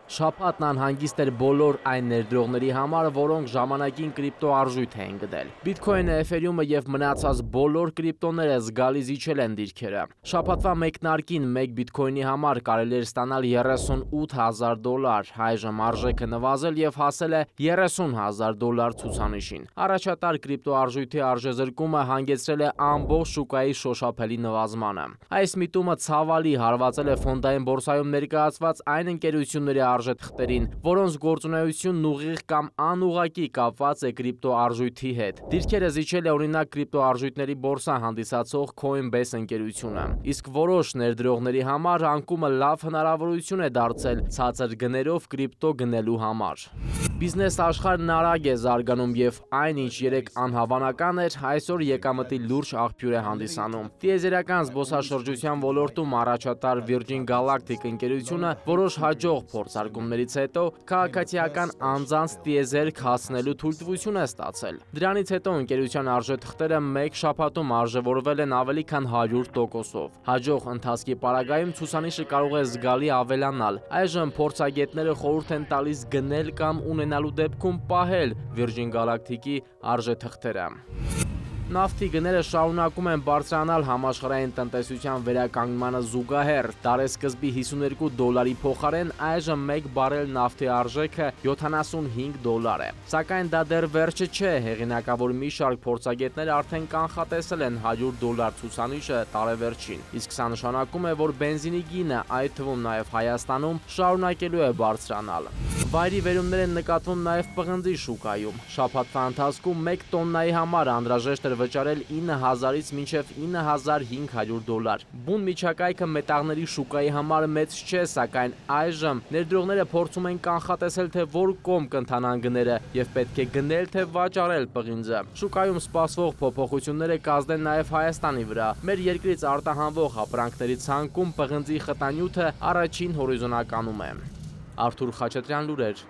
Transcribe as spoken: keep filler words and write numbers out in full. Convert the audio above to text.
Շաբաթն անհանգիստ էր բոլոր այն ներդրողների համար, որոնք ժամանակին կրիպտո արժույթ էին գտել։ Բիթքոյնը, Էթերիումը եւ մնացած բոլոր կրիպտոները զգալի զիջել են դիրքերը։ Շաբաթվա մեկնարկին մեկ բիթքոյնի համար կարելի էր ստանալ երեսունութ հազար դոլար, այժմ արժեքը նվազել եւ հասել է երեսուն հազար դոլար ցուցանիշին։ Առաջատար կրիպտո արժույթի արժեզրկումը հանգեցրել է ամբողջ շուկայի շոշափելի նվազմանը։ Այս միտումը ցավալի հարվածել է ֆոնդային բորսայում ներկայացված այն ընկերությունների արժեթղթերին, որոնց գործունեությունն ուղիղ կամ անուղղակի կապված է կրիպտո արժույթի հետ։ Դիրքերը զիջել է օրինակ կրիպտո արժույթների բորսա հանդիսացող Coinbase ընկերությունը։ Իսկ որոշ ներդրողների համար անկումը լավ հնարավորություն է դարձել ցածր գներով կրիպտո գնելու համար։ Բիզնես աշխարհն արագ է զարգանում եւ այն, ինչ երեք անհավանական էր, այսօր եկամտի լուրջ աղբյուր է հանդիսանում։ Տիեզերական զբոսաշրջության ոլորտում առաջատար Virgin Galactic ընկերությունը որոշ հաջող փորձարկումներից հետո քաղաքացիական անձանց տիեզերք հասնելու թույլտվություն է ստացել։ Դրանից հետո ընկերության արժեթղթերը մեկ շաբաթում արժևորվել են ավելի քան հարյուր տոկոսով։ Հաջող ընթացքի պարագայում ցուցանիշը կարող է զգալի ավելանալ։ Այժմ փորձագետները խորհուրդ են տալիս գնել կամ ունենալու դեպքում պահել Virgin Galactic-ի արժեթղթերը։ Նավթի գները շարունակում են բարձրանալ համաշխարհային տնտեսության վերականգնմանը զուգահեռ։ Տարեսկզբի հիսուներկու դոլարի փոխարեն այժմ մեկ բարել նավթի արժեքը յոթանասունհինգ դոլար է։ Սակայն դա դեռ վերջը չէ, հեղինակավոր մի շարք փորձագետներ արդեն կանխատեսել են հարյուր դոլար ցուցանիշը տարեվերջին։ Իսկ սա նշանակում է, որ բենզինի գինը, այդ թվում նաև Հայաստանում, շարունակելու է բարձրանալ։ Վայրի վերումներ են նկատվում նաև պղնձի շուկայում։ Շաբաթվա ընթացքում մեկ տոննայի համար անհրաժեշտ էր վճարել ինը հազարից մինչև ինը հազար հինգ հարյուր դոլար։ Բուն միջակայքը մետաղների շուկայի համար մեծ չէ, սակայն այժմ ներդրողները փորձում են կանխատեսել, թե որ կողմ կընթանան գները եւ պետք է գնել թե վաճառել պղինձը։ Շուկայում սպասվող փոփոխությունները կազդեն նաև Հայաստանի վրա։ Մեր երկրից արտահանվող ապրանքների ցանկում պղնձի խտանյութը առաջին հորիզոնականում է։ Արթուր Խաչատրյան, լուրեր։